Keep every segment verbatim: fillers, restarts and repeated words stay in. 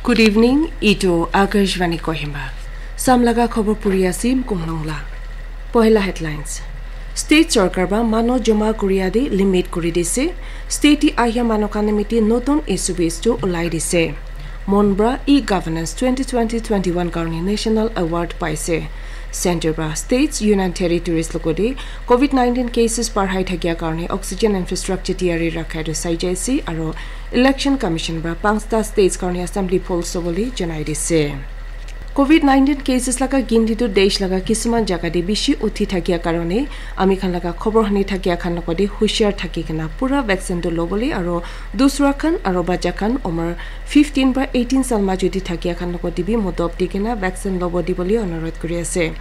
Good evening, itu Akashvani Kohima. Samlaga khobor puri asim kumlongla. Pohela headlines. State sorkar ba mano joma kuriya de limit kuri dise. State ahya mano kanamiti notun S O Ps tu ulai dise. Monbra e-governance twenty twenty twenty-one karni national award paise. Center ba states, union territories logode COVID nineteen cases parhai thakia karni oxygen infrastructure tiyari rakha tu saijai si aro Election Commission para panchta states karni assembly polls sobole janai dise. COVID nineteen cases laga ginti tu desh laga kisuman jaga de bishi uthi thakia karone ami khan laga khobor hani thakia khan logode hushar thaki kena pura vaccine tu lobole aro dusra khan aro bacha khan umar fifteen para eighteen sal ma jodi thakia khan logode bi modop di kena vaccine lobo di bole onurodh kuri ase.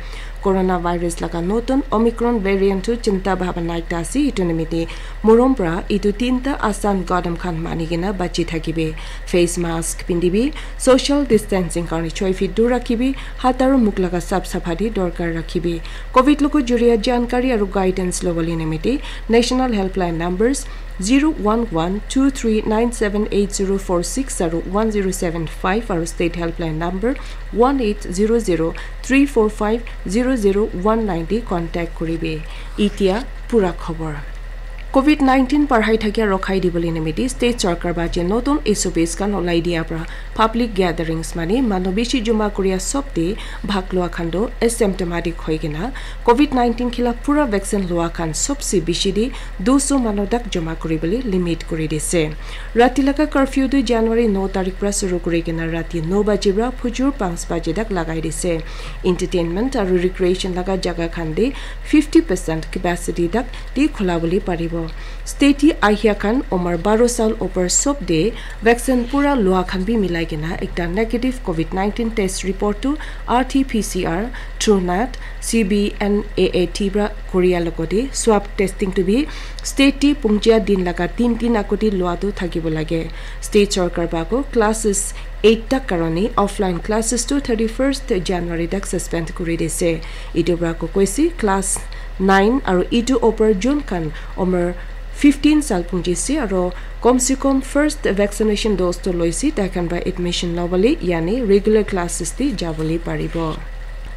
Coronavirus laga notun Omicron variant tu chinta bhabana ekta ase, itu nimite morom para itu tinta asan gadam khan mani kena bachi thakibe. Face mask pindibi, social distancing karni choi feet dur rakhibi, hat aru mukh laga sap sapha di dorkar rakhibi. COVID logo juriya jankari aru guidance lobole nimite national helpline numbers zero one one two three nine seven eight zero four six aru one zero seven five aru state helpline number one eight zero zero three four five zero zero one nine di contact kuribe. Itia pura khobor. COVID nineteen parhai thakia rokhai dibole nimite state sorkar ba je notun S O Ps khan olai dia pra public gatherings mane manu bishi joma kuria sob te bhag lua khan toh asymptomatic hoi kena COVID nineteen khilaf pura vaccine lua khan sobse bishi de duso manu tak joma kuribole limit kuri dise. Rati laga curfew tu January no tarik pra suru kuri kena rati no baji pra phujur panch baji tak lagai dise. Entertainment aru recreation laga jaga khan de fifty percent capacity tak de khula bole paribo. State ahia khan umar baro sal upor sob de vaccine pura lua khan bi milai kena ekta negative COVID nineteen test report tu R T P C R, TrueNat, C B N A A T pra kuria logode swab testing tu bi state te pungjia din laga tin tin aguti lua tu thakibo lage. State sorkar pa ko classes eight tak karone offline classes tu thirty first January tak suspend kuri dise. Itu pra ko koise class nine aru itu upor jun khan umar fifteen sal punjise aru kom se kom first vaccination dose tu loise tai khan pra admission lobole yani regular classes te jabole paribo.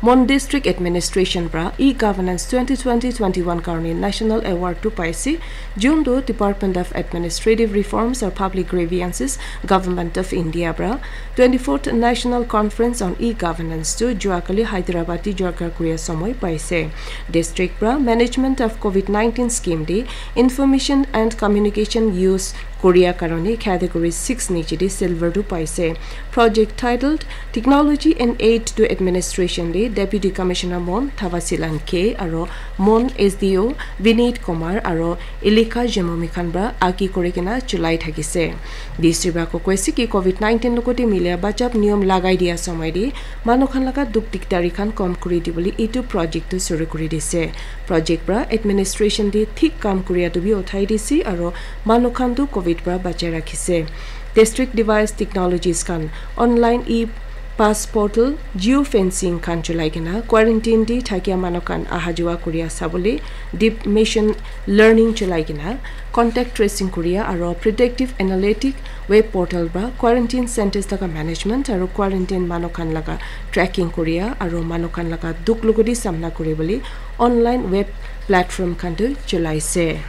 Mon District Administration pra e-governance twenty twenty twenty-one karone national award tu paise, jun tu Department of Administrative Reforms or Public Grievances, Government of India pra twenty-fourth National Conference on E-Governance tu juakali Hyderabad te jorkar kuria somoi paise. District pra Management of COVID nineteen Scheme de Information and Communication Use Korea karone category six niche de silver tu paise. Project titled Technology and Aid to Administration de Deputy Commissioner Mon Thavasilan K aro Mon S D O Vineet Kumar aro Elika Jemomi khan pra agi kuri kena chulai thakise. D C pra ko koise ki COVID nineteen logote milia bachap niyom lagai dia somoi de manu khan laga duk dikdari khan kom kuri dibole itu project tu suru kuri dise. Project pra administration de thik kam kuria tu bi uthai dise aro manu khan tu COVID pra bachai rakhise. District device technologies khan online e pass portal, geo fencing khan chulai kena quarantine de thakia manu khan aha jua kuria sabole deep machine learning chulai kena contact tracing kuria aro predictive analytic web portal pra quarantine centers laga management aro quarantine manu khan laga tracking kuria aro manu khan laga duk logodi samna kuribole online web platform khan tu chulaise.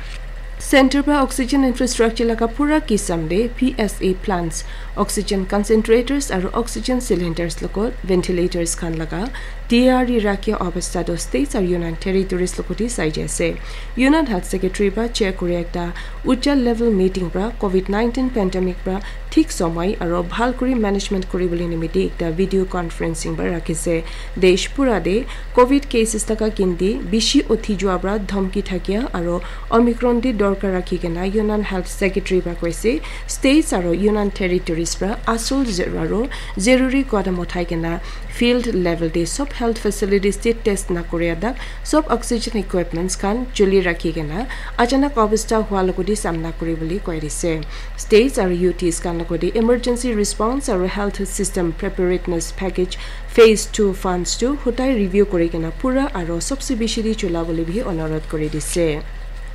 Center pra oxygen infrastructure laga pura kisam de P S A plants, oxygen concentrators aru oxygen cylinders logo ventilators khan laga tiyari rakhia obostha tu states aru union territories logo de sai jai ase. Union Health Secretary pra chair kuri ekta ucha level meeting pra COVID nineteen pandemic pra thik somoi aru bhal kuri management kuribole nimite ekta video conferencing pra rakhise. Desh pura de COVID cases taka ginti bishi uthi jua pra dhamki thakia aru Omicron de dorkar rakhi kena Union Health Secretary pra koise states aru Union Territories pra asul zer-, aru zeruri kodam uthai kena field level de sob health facilities de test na kuria dak sob oxygen equipments khan chuli rakhi kena achanak obostha hua logodi samna kuribole koi dise. States aru U Ts khan logodi emergency response aru health system preparedness package phase two funds tu hutai review kuri kena pura aru sobse bishi de chula bole bi onurodh kuri dise.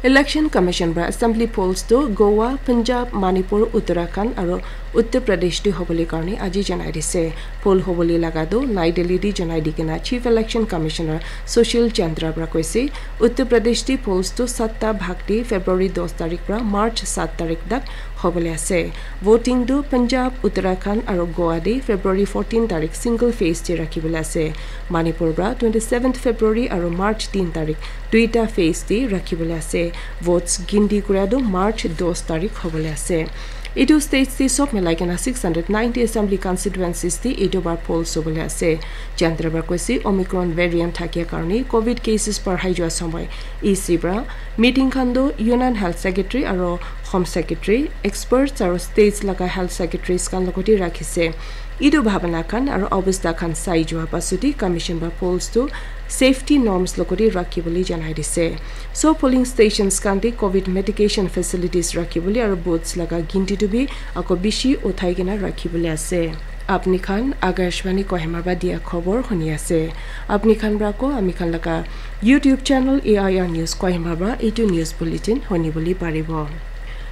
Election Commission para assembly polls tu Goa, Punjab, Manipur, Uttarakhand aru Uttar Pradesh te hobole karne aji janai dise. Poll hobole laga tu Nai Delhi te janai di kena Chief Election Commissioner Sushil Chandra para koise. Uttar Pradesh te polls tu satta bhag te February dos tarik para March sat tarik tak hobole ase. Voting tu Punjab, Uttarakhand aru Goa te February fourteen tarik single phase te rakhibole ase. Manipur para twenty seventh February aru March tin tarik duita phase te rakhibole ase. Votes ginti kuria tu March dos tarik hobole ase. Etu states te sob milai kena six hundred ninety assembly constituencies te etu bar polls hobole ase. Chandra para koise Omicron variant thakia karne covid cases barhai jua samai E C para meeting khan tu Union Health Secretary aru Home Secretary, experts aru states laga health secretaries khan logote rakhise. Etu bhabana khan aru obostha khan sai jua pasute commission para polls tu safety norms logote rakhibole janai dise. So polling stations khan te covid medication facilities rakhibole aru booths laga ginti tu bi ako bishi uthai kena rakhibole ase. Apni khan Akashvani Kohima para dia khobor huni ase. Apni khan para ko ami khan laga YouTube channel A I R News Kohima para etu news bulletin huni bole paribo.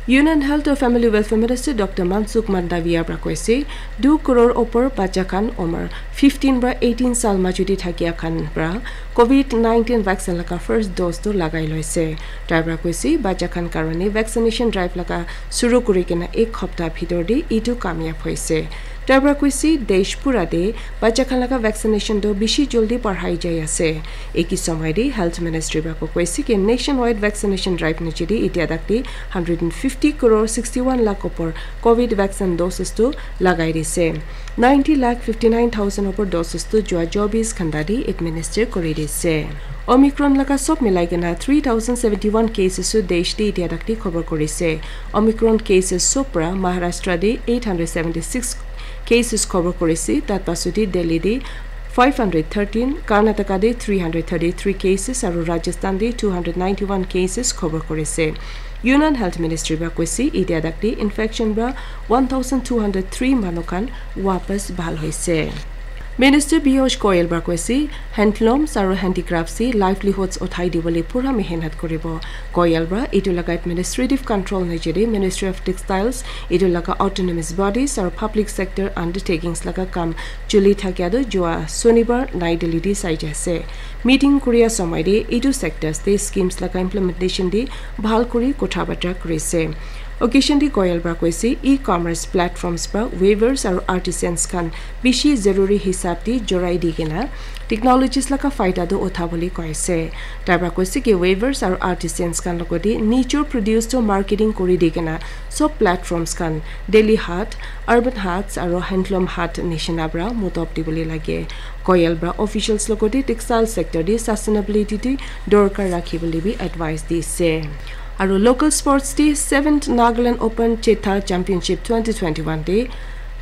Union Health and Family Welfare Minister Doctor Mansukh Mandaviya para koise, du crore opor bacha khan umar fifteen para eighteen sal majuti thakia khan para covid nineteen vaccine laga first dose tu lagai loise. Tai para koise, bacha khan karone vaccination drive laga suru kuri kena ek hapta bhitor te etu kamyab hoise. Tai para koise, desh pura te bacha khan laga vaccination tu bishi joldi barhai jai ase. Eki samay te Health Ministry para koise ki nationwide vaccination drive niche te itya tak te hundred and fifty crore sixty one lakh opor covid vaccine doses tu lagai dise. Ninety lakh fifty nine thousand opor doses tu jua chobis ghanta te administer kuri dise. Omicron laga sob milai kena three thousand seventy one cases tu desh te itya tak te khobor kurise. Omicron cases sob para Maharashtra te eight hundred seventy six cases khobor kurise. Tat pasute Delhi te five hundred thirteen, Karnataka te three hundred thirty three cases aru Rajasthan te two hundred ninety one cases khobor kurise. Union Health Ministry para koise, itya tak te infection para one thousand two hundred three manu khan wapas bhal hoise. Minister Piyush Goyal para koise, handlooms aru handicrafts te livelihoods uthai dibole pura mehnat kuribo. Goyal para etu laga administrative control niche te Ministry of Textiles, etu laga autonomous bodies aru public sector undertakings laga kam chuli thakia tu jua Sonibar Nai Delhi te sai jai ase. Meeting kuria samay te etu sectors te schemes laga implementation te bhal kuri kotha batra kurise. Occasion te Goyal para koise, e-commerce platforms para weavers aru artisans khan bishi zaruri hisab te jorai di kena technologies laga faida tu utha bole koise. Tai para koise ki weavers aru artisans khan logote nijor produce tu marketing kuri di kena sob platforms khan Delhi Haat, Urban Haats aru Handloom Haat nishina para mudot dibole lage. Goyal para officials logote textile sector te sustainability te dorkar rakhi bole bi advice dise. Aru local sports te seventh Nagaland Open Chetha Championship twenty twenty one te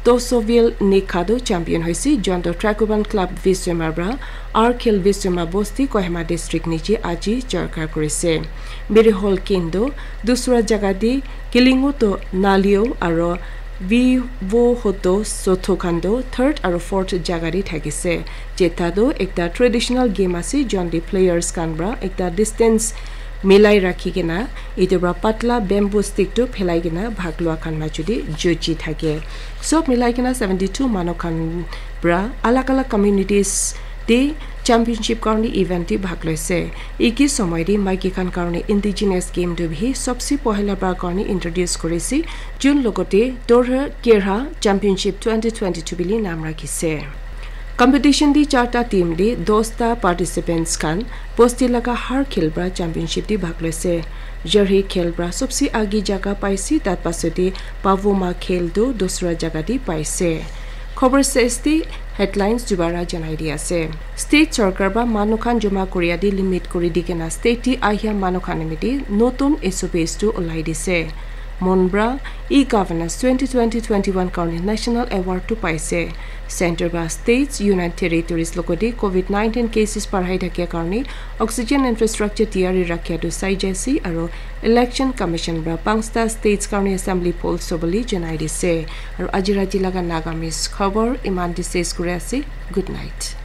Tosovil Nikha tu champion hoise, Jonto Trakuban Club Viswema para R Khel Viswema Bosti Kohima District niche aji jarkar kurise. Miri Hall Kendo dusra jaga te Kilingo to Nalio aro Vivo Hoto Sotho khan toh third aro fourth jaga te thakise. Chetha toh ekta traditional game ase, jon te players khan para ekta distance milai rakhi kena etu para patla bamboo stick tu phelai kena bhag lua khan majo te juji thake. Sob milai kena seventy two manu khan para alag alag communities te championship karne event te bhag loise. Eki somoi te maiki khan karne indigenous game tu bhi sobse pohila para karne introduce korise, jun logote Dorher Kerha Championship twenty twenty two bili naam rakhise. Competition te charta team te dosta participants khan bosti laga har khel para championship te bhag loise. Jarhi khel para sobse agi jaga paise, tat pasate Pavoma khel tu dusra jaga te paise. Khobor ses te headlines dubara janai di ase. State sarkar para manu khan joma koria te limit kori di kena state te ahia manu khan nimite notun S O Ps tu ulai dise. Mon para e-governance twenty twenty twenty one karne national award tu paise. Center para states, union territories logote covid nineteen cases parhai thakia karne oxygen infrastructure tiyari rakhia tu sai jaise aro Election Commission para panchta states karne assembly polls hobole janai dise. Aro aji rati laga Nagamese khobor iman te ses kuri ase. Good night.